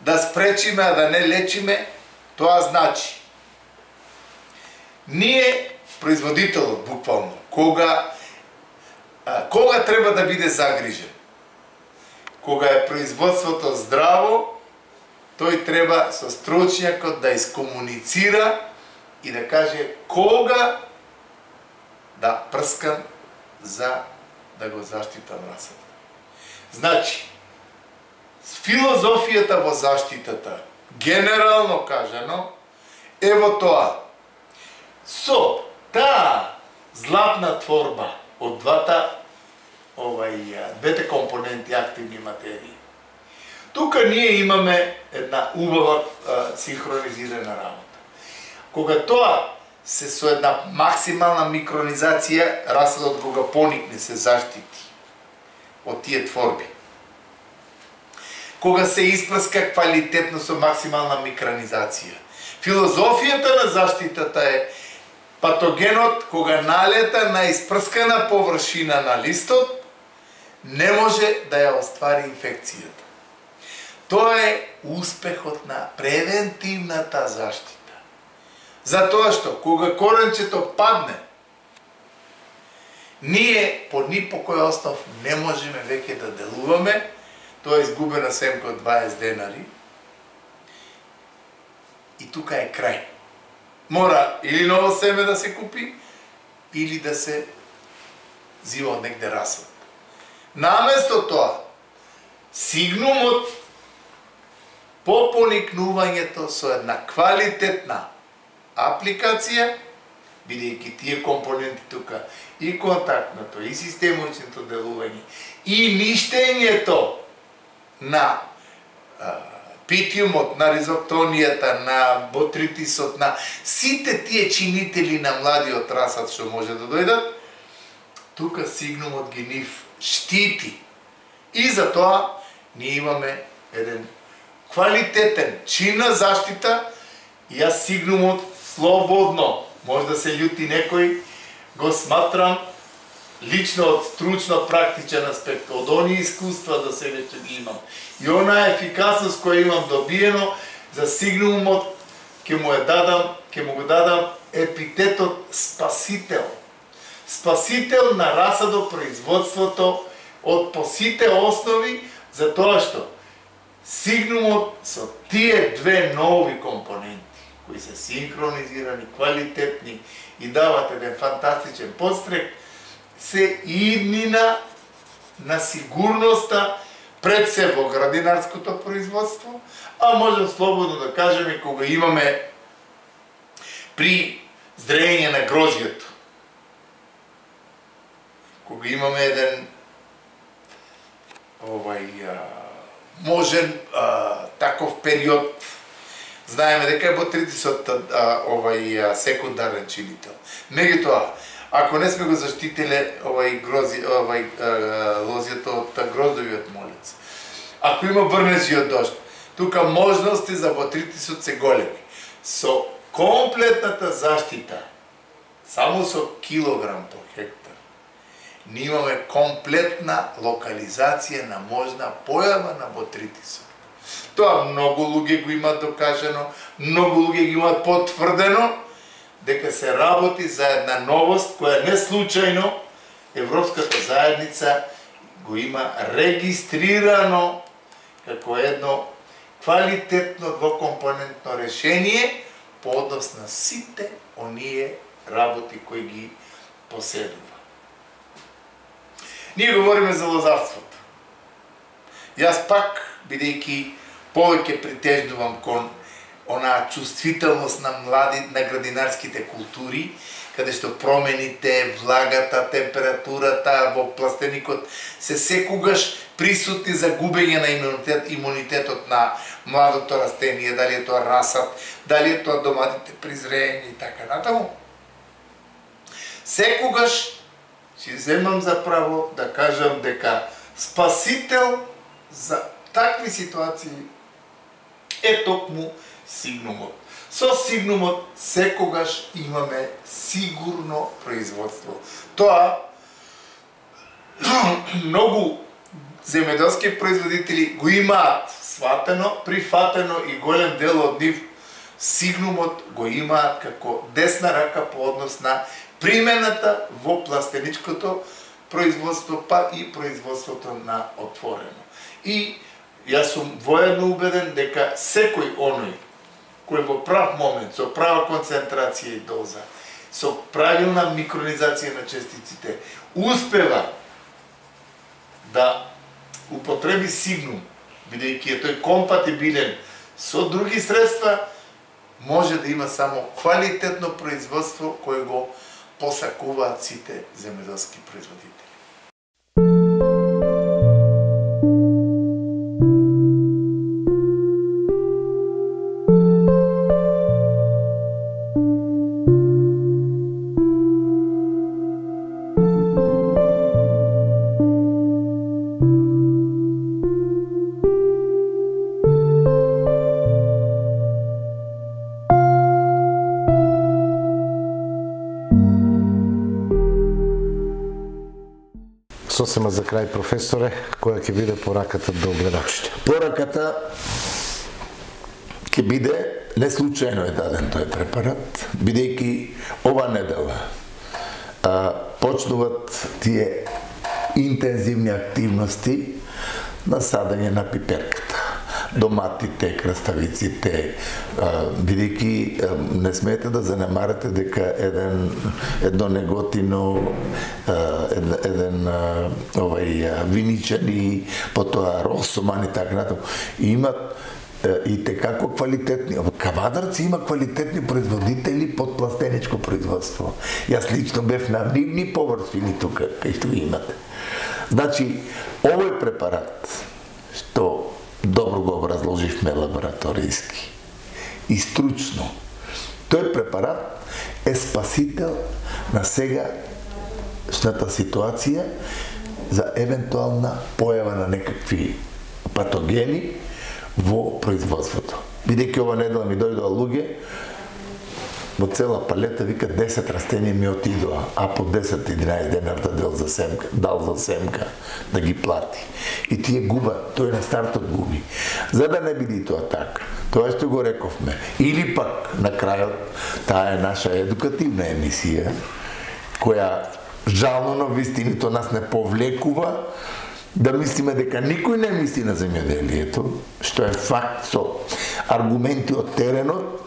Да спречиме, а да не лечиме, тоа значи ние, производителот буквално, кога треба да биде загрижен? Кога е производството здраво, тој треба со стручњакот да искомуницира и да каже кога да прскам за да го заштитам расадот. Значи, Филозофијата во заштитата, генерално кажано, е во тоа. Со таа златна творба од двете компоненти активни материи. Тука ние имаме една убава синхронизирана работа. Кога тоа се со една максимална микронизација, расадот кога поникне се заштити од тие творби. Кога се испрска квалитетно со максимална микронизација. Филозофијата на заштитата е патогенот кога налета на испрскана површина на листот, не може да ја оствари инфекцијата. Тоа е успехот на превентивната заштита. Затоа што кога коренчето падне, ние по ни по кој основ не можеме веќе да делуваме, тоа е изгубена семка од 20 денари. И тука е крај. Мора или ново семе да се купи, или да се зива од негде расад. Наместо тоа, сигнумот по поникнувањето со една квалитетна апликација, бидејќи тие компоненти тука, и контактното, и системочното делување, и ништењето на питиумот, на ризоптонијата, на ботритисот, на сите тие чинители на младиот расад што може да дојдат, тука сигнумот ги нив штити. И затоа ние имаме еден квалитетен чин на заштита, и јас сигнумот слободно, може да се љути некој, го сматрам лично од стручно практичен аспект, од оние искуства да се веќе ги имам. И онаа ефикасност која имам добиено за сигнумот, ќе му го дадам епитетот спасител. Спасител на расадопроизводството од по сите основи, затоа што сигнумот со тие две нови компоненти, кои се синхронизирани, квалитетни и дават еден фантастичен подстрек, се иднина на сигурноста пред се во градинарското производство, а можем слободно да кажеме кога имаме при зрејење на грозјето, кога имаме еден можен таков период, знаеме дека е ботритисот секундарен чинител. Меѓутоа, ако не сме го заштителе лозјето од гроздовиот молец, ако има врнежи од дожд, тука можности за ботритисот се големи. Со комплетната заштита, само со килограм по хектар, ние имаме комплетна локализација на можна појава на ботритисот. Тоа многу луѓе го имаат докажано, многу луѓе го имаат потврдено, дека се работи за една новост која не случајно Европската заедница го има регистрирано како едно квалитетно двокомпонентно решение по однос на сите оние работи кои ги поседува. Ние говориме за лозарството. Јас пак, бидејќи повеќе притежнувам кон онаа чувствителност на на градинарските култури, каде што промените, влагата, температурата во пластеникот се секогаш присутни за губење на имунитетот на младото растение, дали е тоа расад, дали е тоа доматите при зрејење и така натаму. Секогаш си земам за право да кажам дека спасител за такви ситуации е токму сигнумот. Со сигнумот секогаш имаме сигурно производство. Тоа многу земјоделски производители го имаат сватено, прифатено и голем дел од нив сигнумот го имаат како десна рака по однос на примената во пластеничкото производство, па и производството на отворено. И јас сум воедно убеден дека секој оној кој во прав момент, со права концентрација и доза, со правилна микронизација на частиците, успева да употреби сигнум бидејќи е тој компатибилен со други средства, може да има само квалитетно производство кое го посакуваат сите земјоделски производители.
Сосема за крај, професоре, која ќе биде пораката до гледачите?
Пораката ќе биде, не случајно е даден тој препарат, бидејќи ова недела почнуват тие интензивни активности на садење на пиперката. Доматите, краставиците, бидејќи не смеете да занемарате дека едно неготино, еден виничани, потоа росоман и така натаму, имат и текако квалитетни. Кавадарци има квалитетни производители под пластеничко производство. Јас лично бев на нивни површини тука, кај што ги имате. Значи, овој препарат, што добро го образложивме лабораторијски и стручно, тој препарат е спасител на сегашната ситуација за евентуална појава на некакви патогени во производството. Бидејќи ова недела ми дојдоа луѓе, во цела палета вика 10 растенија ми отидоа, а по 10-11 денар дал за семка да ги плати. И тие губат, тој на стартот губи. За да не биде тоа така, тоа што го рековме. Или пак, на крајот, таа е наша едукативна емисија, која жално на вистиното нас не повлекува да мислиме дека никој не мисли на земјоделието, што е факт со аргументи од теренот.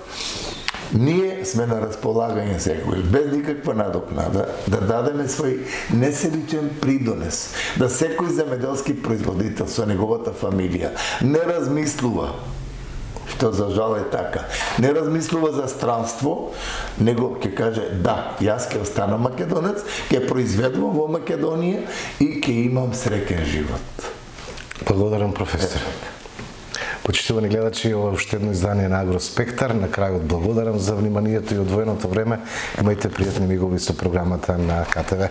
Ние сме на располагање секој, без никаква надокнада, да дадеме свој несебичен придонес, да секој земјоделски производител со неговата фамилија не размислува, што за жал е така, не размислува за странство, него ќе каже да, јас ќе останам македонец, ќе произведувам во Македонија и ќе имам среќен живот.
Благодарам, професор. Почитувани гледачи, ова е уште едно издание на Агроспектар. На крајот благодарам за вниманието и одвоеното време. Имајте пријатни мигови со програмата на КТВ.